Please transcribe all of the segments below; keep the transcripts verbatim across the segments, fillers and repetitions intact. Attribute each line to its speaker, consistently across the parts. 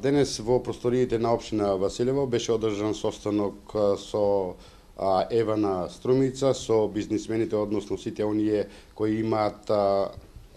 Speaker 1: Денес во просториите на општина Василево беше одржан состанок со Евана Струмица, со бизнисмените, односно сите оние кои имаат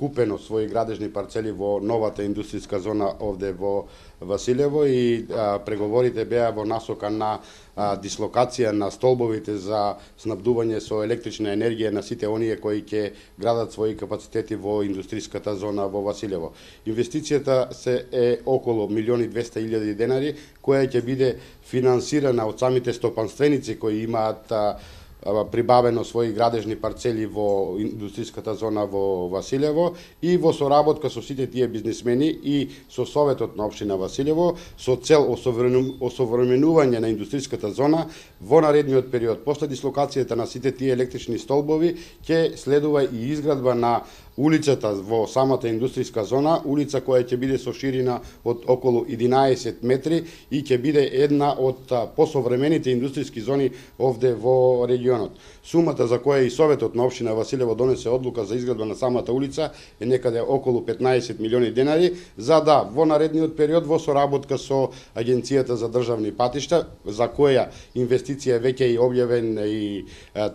Speaker 1: купено своји градежни парцели во новата индустријска зона овде во Василево и а, преговорите беа во насока на а, дислокација на столбовите за снабдување со електрична енергија на сите оние кои ќе градат своји капацитети во индустријската зона во Василево. Инвестицијата се е околу милиони и двесте илјади денари, која ќе биде финансирана од самите стопанственици кои имаат а, прибавено своји градежни парцели во индустријската зона во Василево и во соработка со сите тие бизнисмени и со Советот на општина Василево со цел осовременување на индустријската зона во наредниот период. После дислокацијата на сите тие електрични столбови ќе следува и изградба на улицата во самата индустријска зона, улица која ќе биде со ширина од околу единаесет метри и ќе биде една од посовремените индустријски зони овде во регионот. Сумата за која и Советот на општина Василево донесе одлука за изградба на самата улица е некаде околу петнаесет милиони денари, за да во наредниот период во соработка со Агенцијата за државни патишта, за која инвестиција веќе е објавен и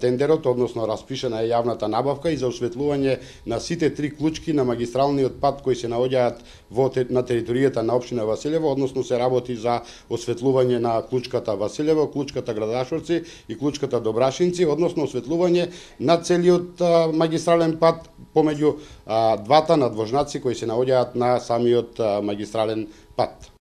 Speaker 1: тендерот, односно распишана е јавната набавка и за осветлување на сите три клучки на магистралниот пат кои се наоѓаат во на територијата на општина Василево, односно се работи за осветлување на клучката Василево, клучката Градашовци и клучката Добрашинци, односно осветлување на целиот а, магистрален пат помеѓу а, двата надвожнаци кои се наоѓаат на самиот а, магистрален пат.